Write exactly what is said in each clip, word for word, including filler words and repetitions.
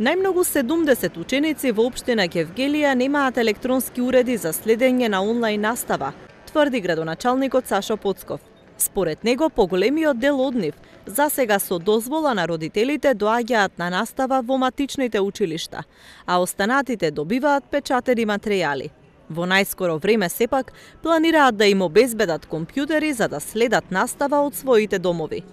Најмногу седумдесет ученици во општина Гевгелија немаат електронски уреди за следење на онлайн настава, тврди градоначалникот Сашо Поцков. Според него, поголемиот дел од нив засега со дозвола на родителите доаѓаат на настава во матичните училишта, а останатите добиваат печатени материјали. Во најскоро време сепак планираат да им обезбедат компјутери за да следат настава од своите домови.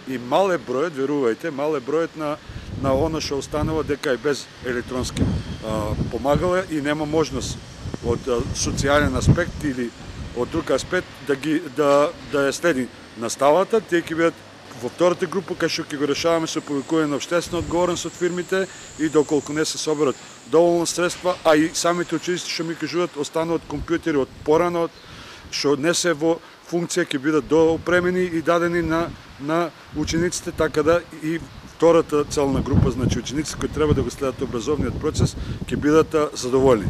И мал е бројот, верувајте, мал е бројот на на оно што останува дека е без електронски а, помагала и нема можност од а, социјален аспект или од друг аспект да ги да да ја следи наставата. Тие ќе бидат во втората група кај што ќе го решаваме со повикување на општествена одговорност од фирмите и доколку не се соберат доволно средства, а и самите ученици што ми кажуваат остануваат компјутери од порано што не се во функција, ќе бидат доопремени и дадени на на учениците, така да и втората целна група, значи ученици кои треба да го следат образовниот процес, ќе бидат задоволни.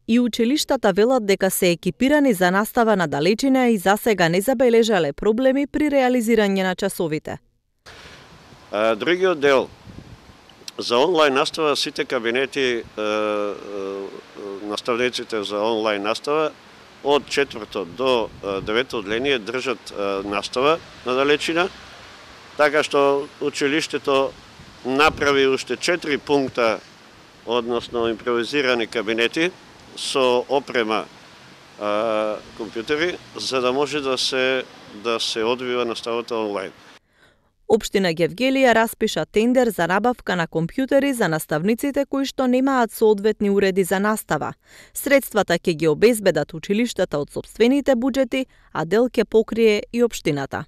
И училиштата велат дека се екипирани за настава на далечина и засега не забележале проблеми при реализирање на часовите. А, другиот дел за онлайн настава, сите кабинети а, а, наставниците за онлайн настава од четврто до девето одделение држат настава на далечина, така што училиштето направи уште четири пункта, односно импровизирани кабинети со опрема а, компјутери, за да може да се да се одвива наставата онлайн. Општина Гевгелија распиша тендер за набавка на компјутери за наставниците кои што немаат соодветни уреди за настава. Средствата ќе ги обезбедат училиштата од сопствените буџети, а дел ќе покрие и општината.